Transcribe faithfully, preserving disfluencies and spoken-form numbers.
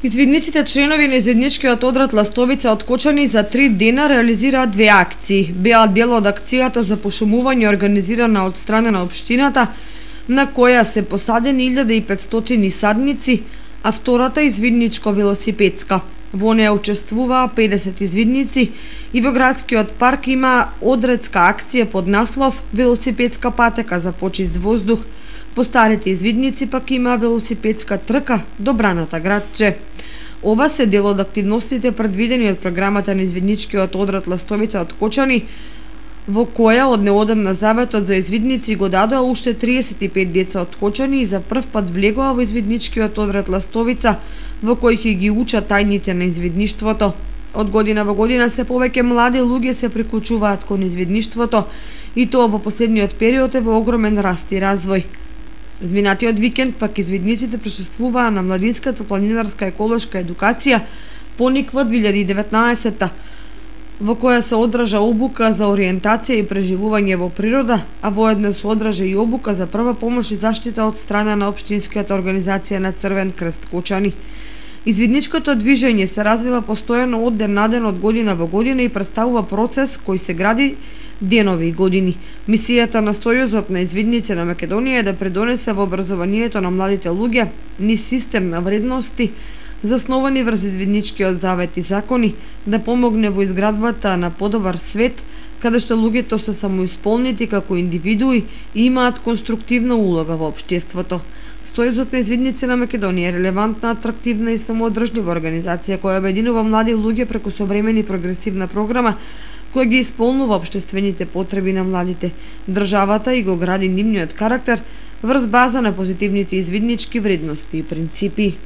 Извидниците членови на извидничкиот одред Ластовица од Кочани за три дена реализираат две акции. Беа дел од акцијата за пошумување организирана од страна на општината, на која се посадени илјада и петстотини садници, а втората извидничко-велосипедска. Во неја учествуваа педесет извидници и во градскиот парк има одредска акција под наслов «Велосипедска патека за почист воздух». По старите извидници пак има велосипедска трка до браната градче. Ова се дел од активностите предвидени од програмата на извидничкиот одред Ластовица од Кочани, во која од неодамна заветот за извидници го дадоа уште триесет и пет деца од Кочани и за прв пат влегоа во извидничкиот одред Ластовица, во кој ќе ги учат тајните на извидништвото. Од година во година се повеќе млади луѓе се приклучуваат кон извидништвото и тоа во последниот период е во огромен раст и развој. Изминатиот викенд пак извидниците присуствуваа на младинската планинарска еколошка едукација Пониква две илјади и деветнаесетта, во која се одржа обука за ориентација и преживување во природа, а воедно се одржа и обука за прва помош и заштита од страна на општинската организација на Црвен крст Кочани. Извидничкото движење се развива постојано од ден на ден, од година во година и представува процес кој се гради денови и години. Мисијата на Сојузот на извидници на Македонија е да придонесе во образованието на младите луѓе низ систем на вредности засновани врз извидничкиот завет и закони, да помогне во изградбата на подобар свет, каде што луѓето се самоисполнети како индивидуи и имаат конструктивна улога во општеството. Сојузот на извидници на Македонија е релевантна, атрактивна и самоодржлива организација која обединува млади луѓе преку современа и прогресивна програма која ги исполнува општествените потреби на младите. Државата и го гради нивниот карактер врз база на позитивните извиднички вредности и принципи.